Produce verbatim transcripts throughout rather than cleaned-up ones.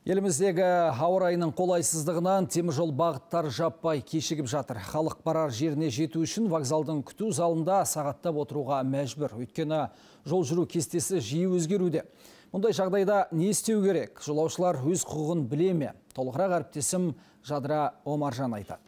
Еліміздегі ауа райының қолайсыздығынан теміржол бағыттар жаппай кешігіп жатыр. Халық барар жеріне жету үшін вокзалдың күту залында сағаттап отыруға мәжбүр. Өйткені жол жүру кестесі жиі өзгеруде. Мұндай жағдайда не істеу керек? Жолаушылар өз құқығын біле ме? Толығырақ әріптесім Жадыра Омаржан айтады.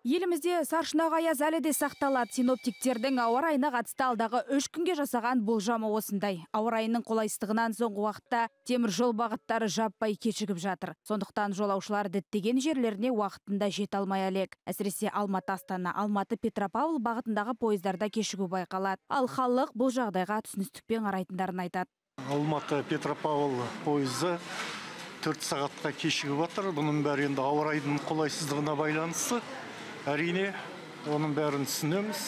Елімізде саршұнақ аяз әлі де сақталады. Синоптиктердің ауа райына қатысты алдағы үш күнге жасаған болжамы осындай. Ауа райының қолайсыздығынан соңғы уақытта темір жол бағыттары жаппай кешігіп жатыр. Сондықтан жолаушылар діттеген жерлеріне уақытында жете алмай әлек. Әсіресе Алматы-Астана, Алматы-Петропавл бағытындағы пойыздарда кешігу байқалады. Ал халық бұл жағдайға түсіністікпен қарайтындарын айтады. Алматы-Петропавл пойызы төрт сағатқа кешігіп жатыр. Бұның бәрі енді ауа райының қолайсыздығына байланысты. Әрине, оның бәрін түсінеміз.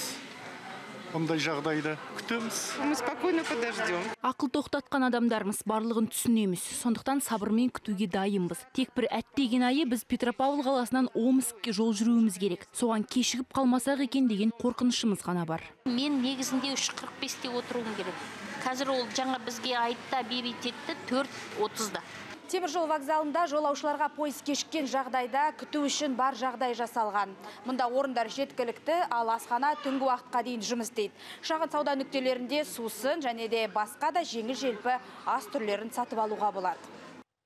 Бұндай жағдайды күтеміз. Мы спокойно подождем. Ақыл тоқтатқан адамдармыз, барлығын түсінеміз. Сондықтан сабырмен күтуге дайынбыз. Тек бір әттеген айы біз Петропавл қаласынан Омскке жол жүруіміз керек. Соған кешігіп қалмасақ екен деген қорқынышымыз ғана бар. Мен негізінде үш қырық бесте отыруым керек. Қазір ол жаңа бізге айтта бейбит етті төрт отызда. Темір жол вокзалында жолаушыларға пойыз кешіккен жағдайда күту үшін бар жағдай жасалған. Мұнда орындар жеткілікті, ал асхана түнгі уақытқа дейін жұмыс істейді. Шағын сауда нүктелерінде сусын және де басқа да жеңіл желпі ас түрлерін сатып алуға болады.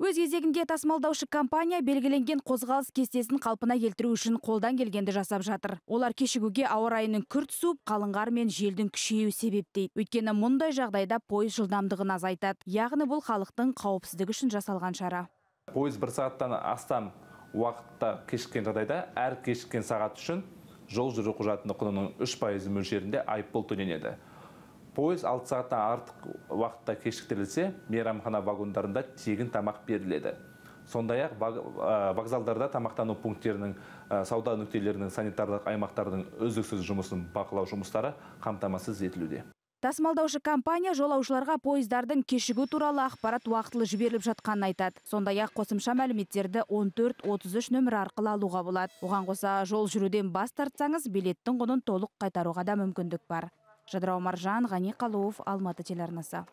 Өз кезегінде тасымалдаушы компания белгіленген қозғалыс кестесін қалпына келтіру үшін қолдан келгенді жасап жатыр. Олар кешігуге ауа райының күрт суып, қалың қар мен желдің күшеюі себеп дейді. Өйткені мұндай жағдайда пойыз жылдамдығын азайтады. Яғни бұл халықтың қауіпсіздігі үшін жасалған шара. Пойыз бір сағаттан астам уақытта кешіккен жағдайда әр кешіккен сағат үшін жол жүру құжатының құнының үш пайыз мөлшерінде айыппұл төленеді. Пойыз алты сағаттан артық уақытта кешіктірілсе, мейрамхана вагондарында тегін тамақ беріледі. Сондай-ақ вокзалдарда тамақтану пункттерінің, сауда нүктелерінің, санитарлық аймақтардың үздіксіз жұмысын бақылау жұмыстары қамтамасыз етілуде. Тасымалдаушы компания жолаушыларға пойыздардың кешігу туралы ақпарат уақытылы жіберіліп жатқанын айтады. Сондай-ақ қосымша мәліметтерді он төрт отыз үш нөмірі арқылы алуға болады. Оған қоса жол жүруден бас тартсаңыз, билеттің құнын толық қайтаруға да мүмкіндік бар. Жадыра Омаржан, Ғани Қалуов, Алматы телеарнасы.